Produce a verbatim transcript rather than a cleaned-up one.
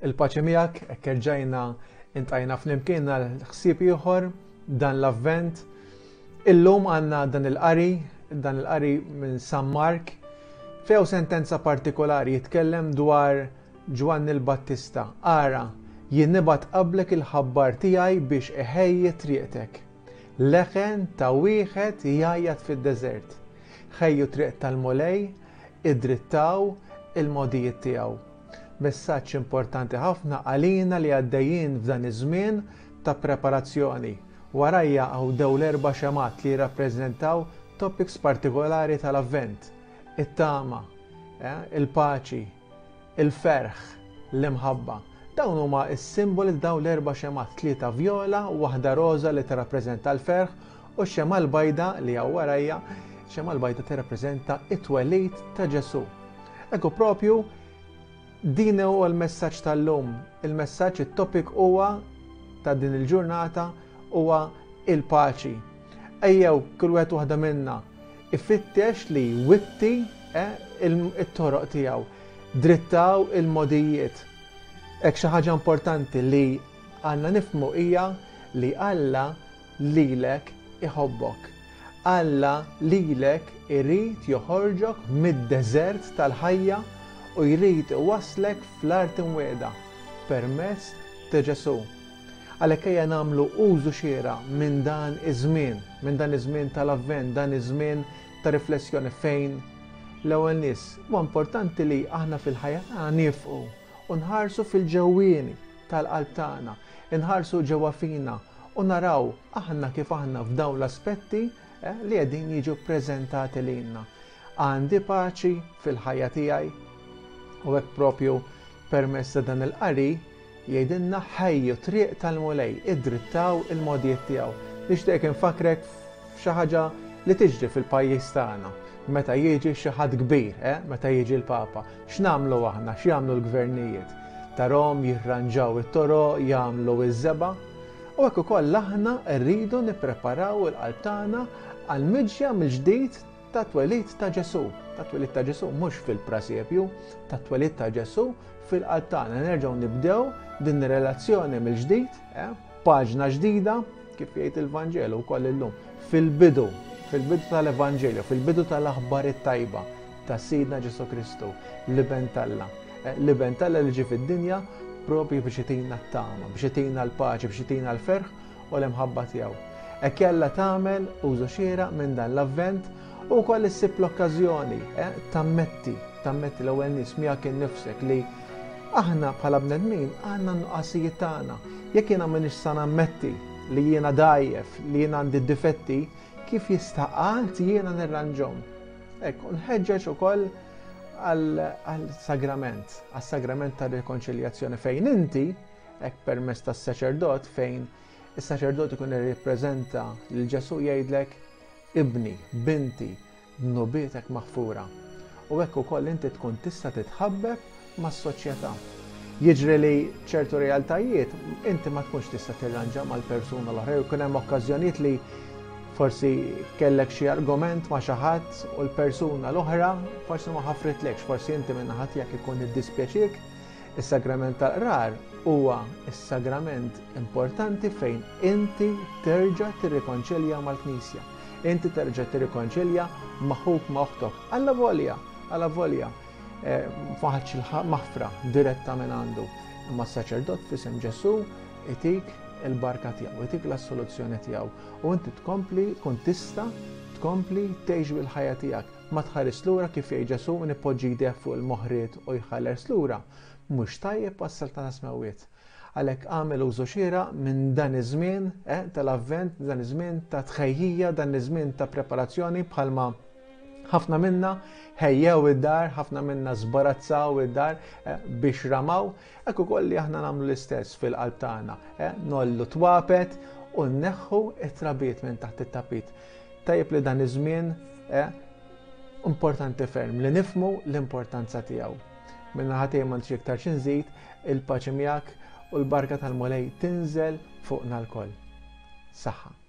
Il-paċi miegħek, hekk erġajna intajna flimkien għal ħsieb ieħor dan l-Avvent. Illum għandna dan il-qari, dan il-qari minn San Mark, few sentenza partikolari jitkellem dwar Ġwanni l-Battista. Ara, jien nibgħat qablek il-ħabbar tiegħi biex iħejji triqtek. Leħen ta' wieħed jgħajjat fid-deżert. Ħejju triq tal-Mulej, idrittaw il-mogħdijiet tiegħu. Messaġġ importanti ħafna għalina li għaddejjin f'dan iż-żmien ta' preparazzjoni. Warajja hawn dawn l-erba' xemgħat li jirrappreżentaw topics partikolari tal-Avvent. It-tama, eh, il-paċi, il-ferħ, l-imħabba. Dawn huma s-simboli dawn l-erba' xemgħat, tlieta vjola, waħda roża li tirrappreżenta l-ferħ u x-xemgħa l-bajda li hawn warajja, xemgħa l-bajda tirrappreżenta it-twelid ta' Ġesù. Ekku propju din huwa l-messaġġ tal-lum. Il-messaġġ, it-topic huwa ta' din il-ġurnata huwa il-paċi. Ejjew kull wieħed waħda minna ifittex li jwitti eh, it-toroq tiegħu, drittaw il-mogħdijiet. Hekk xi ħaġa importanti li għandna nifhmu hija li Alla lilek iħobbok. Alla lilek irid joħorġok mid-deżert tal-ħajja u jrid iwasslek fl-art imwiegħda permezz ta' Ġesù. Għalhekk ejja nagħmlu użu xieraq minn dan iż-żmien, minn dan iż-żmien tal-Avvent, dan iż-żmien ta' riflessjoni fejn l-ewwel nies huwa importanti li aħna fil-ħajja tagħna nifqu u nħarsu fil-ġewwieni tal-qalb tagħna, inħarsu ġewwa fina u naraw aħna kif aħna f'dawn l-aspetti eh, li qegħdin jiġu ppreżentati lilna. Għandi paċi fil-ħajja tiegħi u hekk propju permezz ta' dan il-qari jgħidilna ħejju triq tal-Mulej, idrittaw il-mogħdijiet tiegħu. Nixtieq infakrek f'xi ħaġa li tiġri fil-pajjiż tagħna meta jiġi xi ħadd kbir, eh? Meta jiġi l-Papa. X'nagħmlu aħna, x'jagħmlu l-gvernijiet? Tarahom jirranġaw it-toroq, jagħmlu iż-żebgħa. U hekk ukoll aħna rridu nippreparaw il-qalb tagħna għall-miġja mill-ġdid ta' twelid ta' Ġesù. Ta' twelid ta' Ġesù mhux fil-prasepju, ta' twelid ta' Ġesù fil-qalb tagħna. Nerġgħu nibdew din ir-relazzjoni mill-ġdid, eh? Paġna ġdida, kif jgħid il-Vanġelu wkoll illum, fil-bidu, fil-bidu tal-Evanġelju, fil-bidu tal-aħbar it-tajba ta' Sidna Ġesù Kristu, l-Iben t'Alla. Eh, L-Iben t'Alla li ġie fid-dinja propju biex itina t-tama, biex itina l-paċi, biex itina l-ferħ u l-imħabba tiegħu. Hekk jalla tagħmel użu xieraq minn dan l-Avvent u wkoll issib l-okkażjoni eh, tammetti, tammetti l-ewwel nies miegħek innifsek li aħna bħala bnedmin għandna n-nuqqasijiet tagħna. Jekk jiena m'iniex sa nammetti li jiena dgħajjef, li jiena għandi difetti, kif jista' qatt jiena nirranġhom? Hekk, nħeġġeġ ukoll għal-sagrament, għas-sagrament tar-rikonċiljazzjoni fejn inti, hekk permezz tas-saċerdot, fejn is-saċerdot ikun irrippreżenta lil Ġesù jgħidlek ibni, binti, dnubietek maħfura. U hekk ukoll inti tkun tista' titħabbeb mas-soċjetà. Jiġri li ċertu realtajiet inti ma tkunx tista' tirranġa mal-persuna l-oħra, jkun hemm okkażjonijiet li forsi kellek xi argument ma' xi ħadd u l-persuna l-oħra forsi ma ħafritlekx, forsi inti minn naħa tiegħek ikun iddispjaċiek. Is-sagrament tal-qrar huwa s-sagrament importanti fejn inti terġa' tirrikonċilja mal-Knisja. Inti terġa' tirrikonċilja ma' ħuk, ma' oħtok. Alla volja, alla volja, eh, ma ħadx il-maħfra diretta minn għandu. Imma s-saċerdot f'isem Ġesù itik il-barka tiegħu, itik l-assoluzzjoni tiegħu. U inti tkompli, tkun tista' tkompli tgħix bil-ħajja tiegħek. Ma tħares lura kif jgħid Ġesù min ipoġġi jdejh fuq il-moħriet u jħares lura. Mhux tajjeb għas-saltana smewwiet. Għalhekk għamel użu xieraq minn dan iż-żmien, eh, tal-Avvent, dan iż-żmien ta' tħejjija, dan iż-żmien ta' preparazzjoni bħalma ħafna minna ħejjew id-dar, ħafna minna żbarazzaw id-dar, eh, biex ramaw, hekk ukoll li aħna nagħmlu l-istess fil-qalb tagħna, eh, nollu twapet u nneħħu it-trabiet minn taħt it-tapit. Tajjeb li dan iż-żmien, eh, importanti ferm li nifhmu l-importanza tiegħu. Minna ħatej ma nixtieq iktar xi nżid, il-paċi miegħek u l-barka tal-Mulej tinżel fuqna lkoll. Saħħa.